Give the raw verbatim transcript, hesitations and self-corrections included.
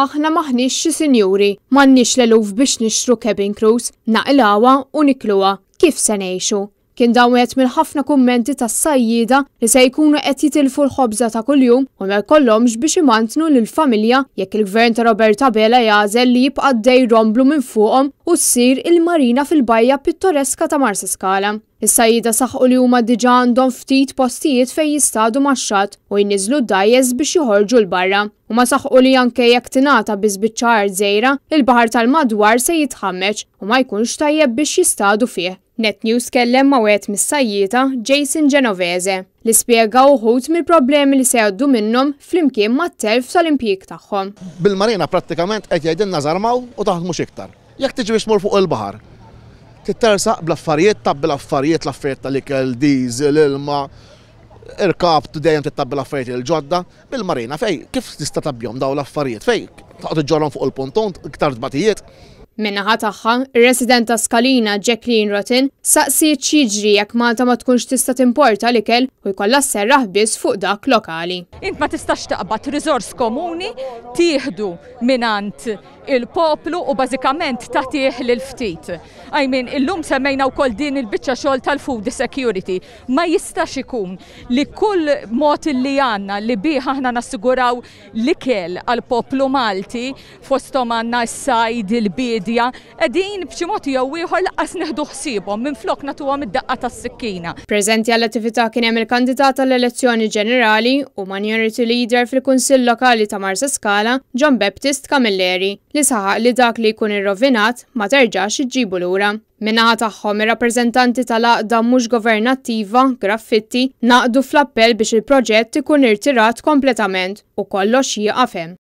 Aħna maħniex xi sinjuri, m'għandniex l-eluf biex nixtru cabin crews, naqilgħuha u nikluha. Kif se ngħixu? Kien dawn wieħed mill-ħafna kummenti tas-sajjieda li se jkunu qed jitilfu l-ħobża ta' kuljum u ma jkollhomx biex imantnu lill-familja jekk il-gvern ta' Robert Abela jagħżel li jibqa' dej romblu minn fuqhom u ssir il-marina fil-bajja pittoreska ta' Marsaskala. Is-sajjieda saħqu li huma diġà għandhom ftit postijiet fejn jistadu max-xatt u jniżlu d-dgħajjes biex joħorġu 'l barra. Huma saħqu li anke jekk tingħata biss biċċa art żgħira, il-baħar tal-madwar se jitħammeġ u ma jkunx tajjeb biex jistadu fih. Net News kellem ma' wieħed mis-sajjieda, Jason Genovese, li spjega uħud mill-problemi li se jgħaddu minnhom flimkien mat-telf tal-impjieg tagħhom. Bil-marina prattikament qed jgħidilna żarmaw u taħdmux iktar. Jekk tiġi biex tmur fuq il-baħar, tittersaq bl-affarijiet, tgħabbi l-affarijiet, l-affarijiet tal-ikel, diesel, ilma, irkab, dejjem tgħabbi l-affarijiet il-ġodda. Bil-marina fej, kif tista' tgħabbihom daw l-affarijiet? Fej, taqgħod iġġorhom fuq il-ponton, iktar tbatijiet. Min-naħa tagħha, ir-resident ta' Skalina Jacqueline Rotin saqsiet x'jiġri jekk Malta ma tkunx tista' timporta l-ikel u jkollha sserraħ biss fuq dak lokali. Int ma tistax taqbad riżors komuni tieħdu mingħand il-poplu u bażikament tagħtih lil ftit. I mean, illum semmejna wkoll din il-biċċa xogħol tal-food security. Ma jistax ikun li kull mod li għandna li bih aħna nassiguraw l-ikel għal poplu Malti, fosthom għandna s-sajd, il-biedja, qegħdin b'xi mod jew ieħor lanqas nieħdu ħsiebhom, minflok nagħtuhom id-daqqa tas-sikkina. Preżenti għall-attività kien hemm il-kandidat għall-elezzjoni ġenerali u minority leader fil-Kunsill Lokali ta' Marsaskala, John Baptist Camilleri, li saħaq li dak li jkun irrovinat ma terġax iġġibu lura. Min-naħa tagħhom, ir-rappreżentanti tal-għaqda mhux governattiva Graffitti ngħaqdu fl-appell biex il-proġett ikun irtirat kompletament u kollox jieqaf hemm.